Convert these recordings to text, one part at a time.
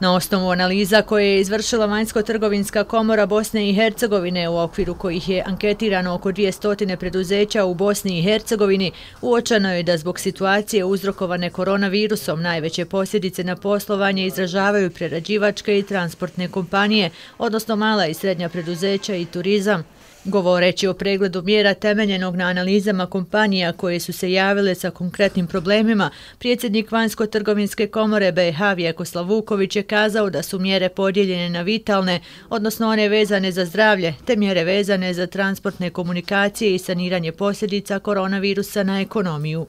Na osnovu analiza koje je izvršila Vanjsko-trgovinska komora Bosne i Hercegovine, u okviru kojih je anketirano oko 200 preduzeća u Bosni i Hercegovini, uočeno je da zbog situacije uzrokovane koronavirusom najveće posljedice na poslovanje izražavaju prerađivačke i transportne kompanije, odnosno mala i srednja preduzeća i turizam. Govoreći o pregledu mjera temeljenog na analizama kompanija koje su se javile sa konkretnim problemima, predsjednik Vanjsko-trgovinske komore BiH Vjekoslav Vuković je kazao da su mjere podijeljene na vitalne, odnosno one vezane za zdravlje, te mjere vezane za transportne komunikacije i saniranje posljedica koronavirusa na ekonomiju.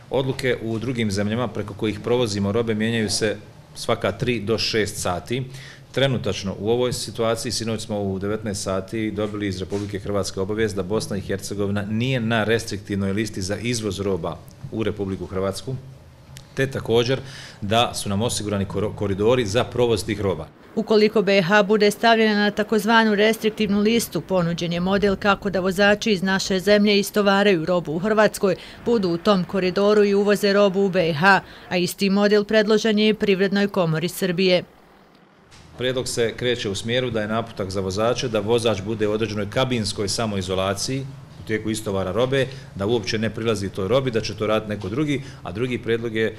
Odluke u drugim zemljama preko kojih provozimo robe mijenjaju se svaka 3 do 6 sati. Trenutačno u ovoj situaciji, sinoć smo u 19 sati dobili iz Republike Hrvatske obavijest da Bosna i Hercegovina nije na restriktivnoj listi za izvoz roba u Republiku Hrvatsku, te također da su nam osigurani koridori za provoz tih roba. Ukoliko BiH bude stavljena na takozvanu restriktivnu listu, ponuđen je model kako da vozači iz naše zemlje istovaraju robu u Hrvatskoj, budu u tom koridoru i uvoze robu u BiH, a isti model predložen je i Privrednoj komori Srbije. Prijedlog se kreće u smjeru da je naputak za vozače da vozač bude u određenoj kabinskoj samoizolaciji u tijeku istovara robe, da uopće ne prilazi toj robi, da će to raditi neko drugi, a drugi prijedlog je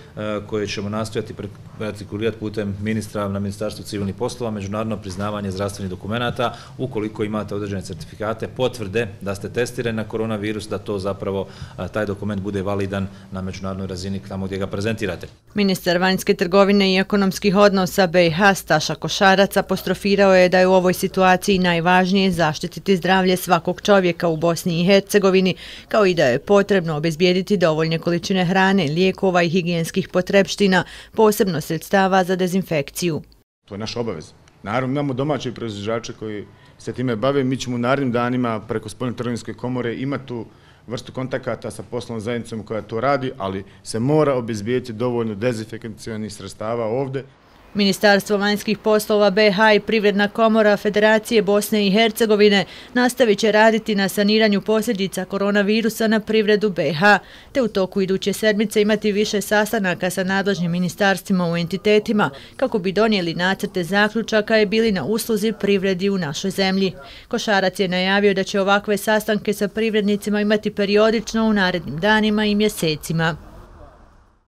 koje ćemo nastojati artikulirati putem ministra na Ministarstvu civilnih poslova, međunarodno priznavanje zdravstvenih dokumenata, ukoliko imate određene certifikate, potvrde da ste testirani na koronavirus, da to zapravo taj dokument bude validan na međunarodnoj razini tamo gdje ga prezentirate. Ministar vanjske trgovine i ekonomskih odnosa BiH Staša Košarac apostrofirao je da je u ovoj situaciji najvažnije zaštititi zdravlje svakog čovjeka u Bosni i Hercegovini, kao i da je potrebno obezbijediti dovoljne količine hrane, lijekova i higijenskih potrepština, posebno sredstava za dezinfekciju. To je naša obaveza. Naravno, imamo domaće proizvođače koji se time bave. Mi ćemo u narednim danima preko Spoljnotrgovinske komore imati tu vrstu kontakata sa poslovnom zajednicom koja to radi, ali se mora obezbijediti dovoljno dezinfekcionih sredstava ovdje. Ministarstvo vanjskih poslova BiH i Privredna komora Federacije Bosne i Hercegovine nastavit će raditi na saniranju posljedica koronavirusa na privredu BiH, te u toku iduće sedmice imati više sastanaka sa nadležnim ministarstvima u entitetima kako bi donijeli nacrte zaključaka i bili na usluzi privredi u našoj zemlji. Košarac je najavio da će ovakve sastanke sa privrednicima imati periodično u narednim danima i mjesecima.